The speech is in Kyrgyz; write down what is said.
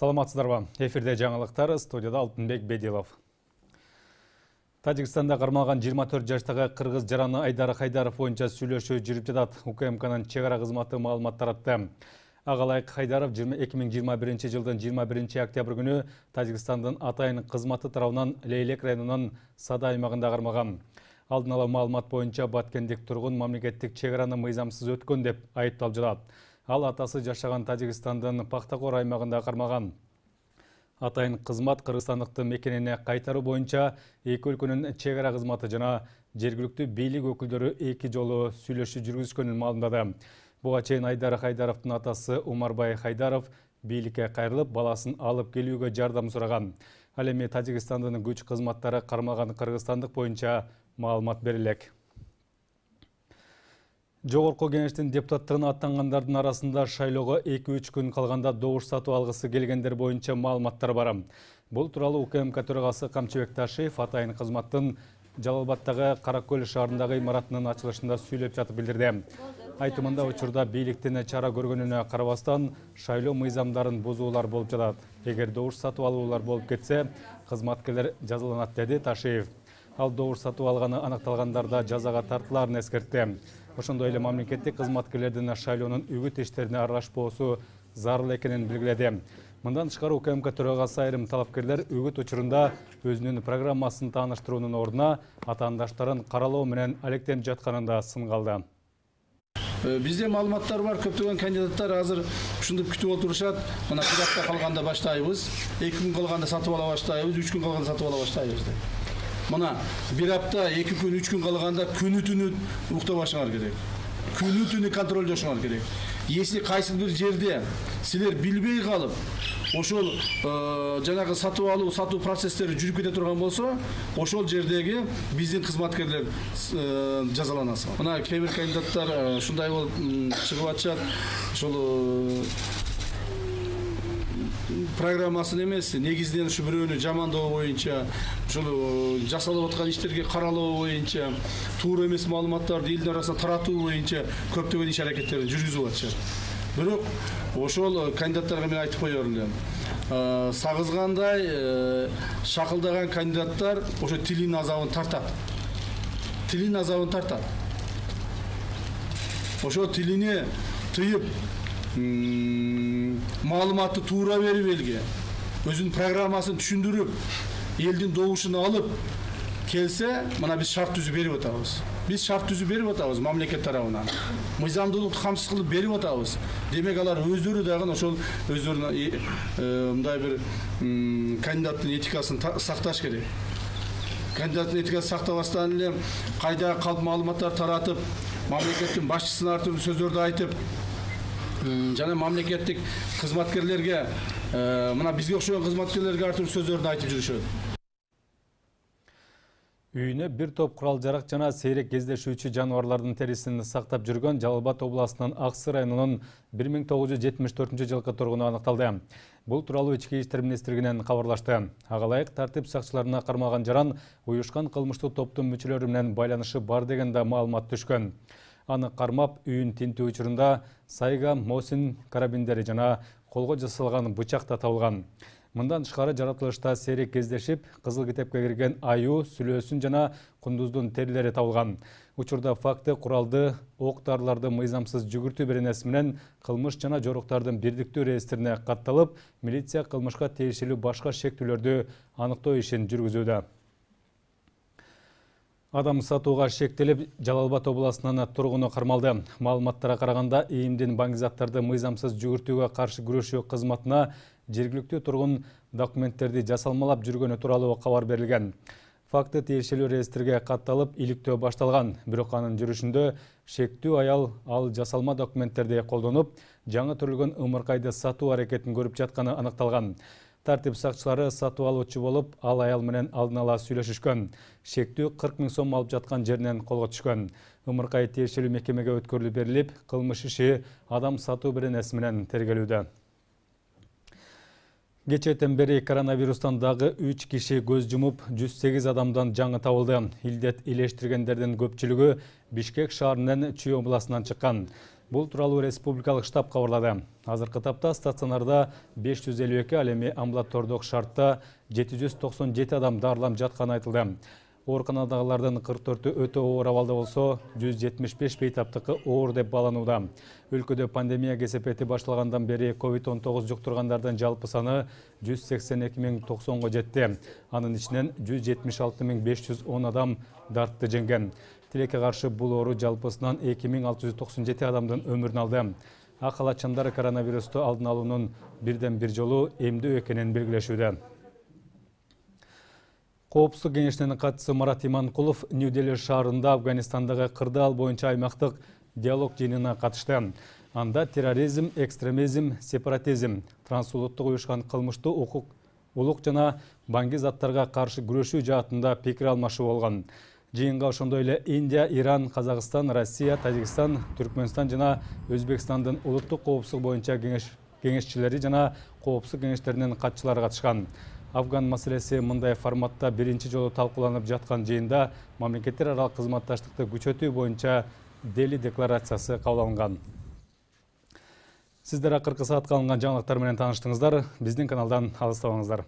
Саламатсыздарбы? Эфирде жаңылыктар, студияда Алтынбек Бедилов. Тажикстанда кармалган 24 жаштагы кыргыз жараны Айдар Хайдаров боюнча сүйлөшүү жүрүп жатат. УКМКнын чек ара кызматы маалымат таратты. Агалайык Хайдаров 2021 жылдын 21 октябрь күнү Тажикстандын Атайын кызматы тарабынан Лейлек районунун Сада аймагында кармалган. Алдын ала маалымат боюнча баткендик тургун мамлекеттик чек араны мыйзамсыз өткөн деп айыпталып жатат. Ал атасы жашаган Тажикстандын Пахтакор аймагында кармалган. Атайын кызмат кыргызстандыктын мекенине кайтаруу боюнча эки өлкөнүн чек ара кызматы жана жергиликтүү бийлик өкүлдөрү эки жолу сүйлөшүү жүргүзгөнүн маалымдады. Буга чейин Айдар Хайдаровдун атасы Умарбай Хайдаров бийликке кайрылып, баласын алып келүүгө жардам сураган. Ал эми Тажикстандын күч кызматтары кармалган кыргызстандык боюнча маалымат берилек. Жогорку кеңештин депутаттыгына аттангандардын арасында шайлоого 2-3 күн калганда добуш сатып алгысы келгендер боюнча маалыматтар бар. Бул тууралуу УКМК төрагасы Камчыбек Ташиев Атайын кызматтын Жалалбаддагы Каракөл шаарындагы имаратынын ачылышында сүйлөп жатып билдирди. Айтымында учурда бийликтин чара көргөнүнө карабастан шайлоо мыйзамдарын бузуулар болуп жатат. Эгер добуш сатып алуулар болуп кетсе, кызматкерлер жазаланат, деди Ташиев. Ал добуш сатып алганы аныкталгандарда жазага тартыларын эскертти. Ошондой эле мамлекеттик кызматкерлердин шайлоонун үгүт иштерине аралашпоосу зарыл экенин белгиледи. Мындан тышкары УКМК төрагасы айрым талапкерлер үгүт учурунда өзүнүн программасын тааныштыруунун ордуна атаандаштарын каралоо менен алектенип жатканын да сынга алды. Бизде маалыматтар бар, көптөгөн кандидаттар азыр ушундуп күтүп отурушат. Мына бир апта калганда баштайбыз, 2 күн калганда сатып ала баштайбыз, 3 күн калганда сатып ала баштайбыз деп. Мына бир апта, 2 күн, 3 күн калганда күнү-түнү уктабашыңар керек. Күнү-түнү контролдошуңар керек. Если кайсы бир жерде силер билбей калып, ошол жанагы сатуу процесстери жүрүп кете турган болсо, ошол жердеги биздин кызматкерлер жазаланасың. Мына кээ бир кандидаттар ушундай болуп чыгып атышат, ошол программасын эмес, негизинен ушу бирөөнү жамандоо боюнча, ушул жасалып аткан иштерге каралоо боюнча, туура эмес маалыматтарды элдин арасына таратуу боюнча көптөгөн иш аракеттерди жүргүзүп атышат. Бирок ошол кандидаттарга мен айтып коёр элем. Сагызгандай, шакылдаган кандидаттар ошо тилин азабын тартат. Тилин азабын тартат. Ошо тилине тыйып, маалыматты туура берип элге, өзүнүн программасын түшүндүрүп, элдин добушун алып келсе, мына биз шарт түзүп берип атабыз. Биз шарт түзүп берип атабыз мамлекет тарабынан. Мыйзамдуулукту камсыз кылып берип атабыз. Демек алар өздөрү дагы ошол өздөрүнүн мындай бир кандидаттын этикасын сакташ керек. Кандидаттын этикасын сактабастан эле кайда калп маалыматтар таратып, мамлекеттин башчысына ар түрдүү сөздөрдү айтып, жана мамлекеттик кызматкерлерге, мына бизге окшогон кызматкерлерге ар түрдүү сөздөрдү айтып жүрүшөт. Үйүнө бир топ курал-жарак жана сейрек кездешүүчү жаныбарлардын терисин сактап жүргөн Жалалбад областынын Аксы районунун 1974 жылкы тургуну аныкталды. Бул тууралуу Ички иштер министрлигинен кабарлашты. Агалайык тартип сакчыларына кармалган жаран уюшкан кылмыштуу топтун мүчөлөрү менен байланышы бар деген да маалымат түшкөн. Аны кармап, үйүн тинтүү учурунда сайга, мосин карабиндери жана колго жасалган бычак да табылган. Мындан тышкары жаратылышта сейрек кездешип, кызыл китепке кирген аюу, сүлөөсүн жана кундуздун терилери табылган. Учурда факты куралды, ок-дарыларды мыйзамсыз жүгүртүү беренеси менен кылмыш жана жоруктардын бирдиктүү реестрине катталып, милиция кылмышка тиешелүү башка шектүүлөрдү аныктоо ишин жүргүзүүдө. Адам сатууга шектелип, Жалалбад областынын тургуну кармалды. Маалыматтарга караганда, ИИМдин баңгизаттарды мыйзамсыз жүгүртүүгө каршы күрөшүү кызматына жергиликтүү тургун документтерди жасалмалап жүргөнү тууралуу кабар берилген. Факты тиешелүү реестрге катталып, иликтөө башталган. Бирок анын жүрүшүндө шектүү аял ал жасалма документтерди колдонуп, жаңы төрөлгөн ымыркайды сатуу аракетин көрүп жатканы аныкталган. Тартип сакчылары сатып алуучу болуп, ал аял менен алдын ала сүйлөшүшкөн. Шектүү 40 000 сом алып жаткан жеринен колго түшкөн. Ымыркай тиешелүү мекемеге өткөрүлүп берилип, кылмыш иши адам сатуу беренеси менен тергелүүдө. Кечээден бери коронавирустан дагы 3 киши көз жумуп, 108 адамдан жаңы табылды. Илдет илештиргендердин көпчүлүгү Бишкек шаарынын Чүй областынан чыккан. Бул тууралуу республикалык штаб кабарлады. Азыркы тапта стационарда 552, ал эми амбулатордук шартта 797 адам дарыланып жатканы айтылды. Ооруканадагылардын 44-ü өтө оор абалда болсо, 175 бейтаптыкы оор деп бааланууда. Өлкөдө пандемия кесепети башталгандан бери COVID-19 жуктургандардын жалпы саны 182.090-го жетти. Анын ичинен 176.510 адам дартты жеңген. Тилекке каршы бул оору жалпысынан 2697 адамдын өмүрүн алды. Ак халатчандар коронавирусту алдын алуунун бирден бир жолу эмдөө экенин белгилешүүдө. Коопсуздук кеңешинин катчысы Марат Иманкулов Нью-Дели шаарында Афганистандагы кырдаал боюнча аймактык диалог жыйынына катышты. Анда терроризм, экстремизм, сепаратизм, трансулуттук уюшкан кылмыштуу улук жана баңги заттарга каршы күрөшүү жаатында пикир алмашуу болгон. Жыйынга ошондой эле Индия, Иран, Казакстан, Россия, Тажикстан, Түркмөнстан жана Өзбекстандын улуттук коопсуздук боюнча кеңешчилери жана коопсуздук кеңештеринин катчылары катышкан. Афган маселеси мындай форматта биринчи жолу талкууланып жаткан жыйында мамлекеттер аралык кызматташтыкты күчөтүү боюнча Дели декларациясы кабыл алынган. Сиздер акыркы саатка алынган жаңылыктар менен тааныштыңыздар. Биздин каналдан алыстабаңыздар.